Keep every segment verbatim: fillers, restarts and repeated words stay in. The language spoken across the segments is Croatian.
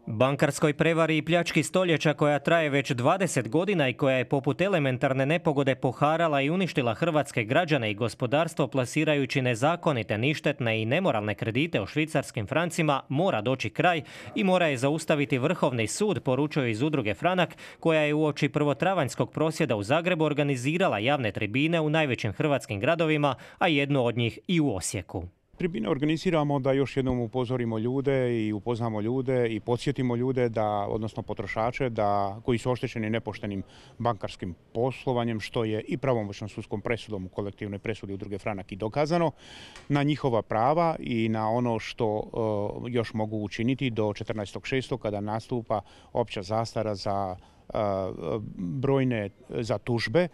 Bankarskoj prevari i pljački stoljeća koja traje već dvadeset godina i koja je poput elementarne nepogode poharala i uništila hrvatske građane i gospodarstvo plasirajući nezakonite, ništetne i nemoralne kredite u švicarskim francima, mora doći kraj i mora je zaustaviti Vrhovni sud, poručuje iz udruge Franak, koja je uoči prvotravanjskog prosvjeda u Zagrebu organizirala javne tribine u najvećim hrvatskim gradovima, a jednu od njih i u Osijeku. Tribine organiziramo da još jednom upozorimo ljude i upoznamo ljude i podsjetimo ljude, da, odnosno potrošače, da, koji su oštećeni nepoštenim bankarskim poslovanjem, što je i pravomoćnom sudskom presudom u kolektivnoj presudi udruge Franak i dokazano, na njihova prava i na ono što uh, još mogu učiniti do četrnaestog šestog kada nastupa opća zastara za brojne za tužbe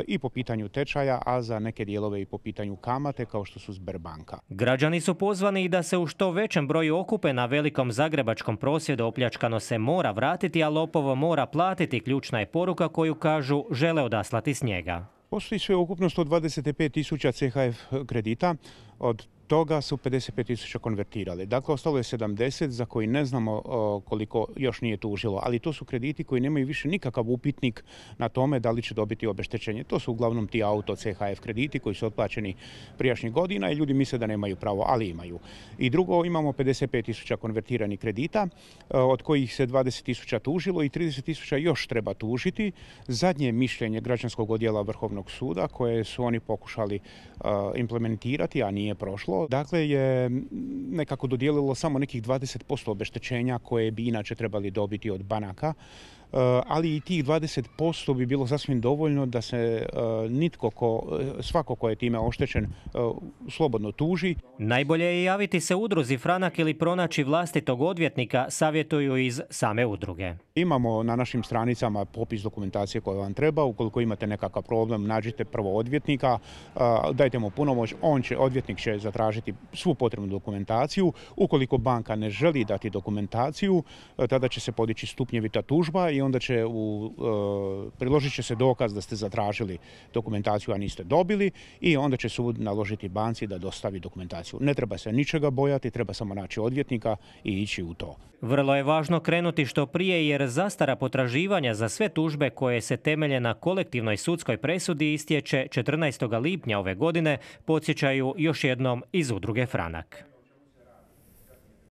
i po pitanju tečaja, a za neke dijelove i po pitanju kamate kao što su Sberbanka. Građani su pozvani i da se u što većem broju okupe na velikom zagrebačkom prosvjedu. Opljačkano se mora vratiti, a lopovo mora platiti. Ključna je poruka koju kažu žele odaslati s njega. Postoji sve ukupno sto dvadeset pet tisuća C H F kredita, od toga su pedeset pet tisuća konvertirali. Dakle, ostalo je sedamdeset za koji ne znamo koliko još nije tužilo, ali to su krediti koji nemaju više nikakav upitnik na tome da li će dobiti obeštećenje. To su uglavnom ti auto C H F krediti koji su otplaćeni prijašnjih godina i ljudi misle da nemaju pravo, ali imaju. I drugo, imamo pedeset pet tisuća konvertiranih kredita, od kojih se dvadeset tisuća tužilo i trideset tisuća još treba tužiti. Zadnje mišljenje građanskog odjela Vrhovnog suda koje su oni pokušali implementirati, a nije prošlo, dakle je nekako dodijelilo samo nekih dvadeset posto obeštećenja koje bi inače trebali dobiti od banaka, ali i tih dvadeset posto bi bilo sasvim dovoljno da se nitko ko, svako ko je time oštećen slobodno tuži. Najbolje je javiti se udruzi Franak ili pronaći vlastitog odvjetnika, savjetuju iz same udruge. Imamo na našim stranicama popis dokumentacije koja vam treba. Ukoliko imate nekakav problem, nađite prvo odvjetnika, dajte mu punomoć, on će, odvjetnik će zatražiti svu potrebnu dokumentaciju. Ukoliko banka ne želi dati dokumentaciju, tada će se podići stupnjevita tužba i onda će u, e, priložit će se dokaz da ste zatražili dokumentaciju, a niste dobili, i onda će sud naložiti banci da dostavi dokumentaciju. Ne treba se ničega bojati, treba samo naći odvjetnika i ići u to. Vrlo je važno krenuti što prije jer zastara potraživanja za sve tužbe koje se temelje na kolektivnoj sudskoj presudi istječe četrnaestog lipnja ove godine, podsjećaju još jednom iz udruge Franak.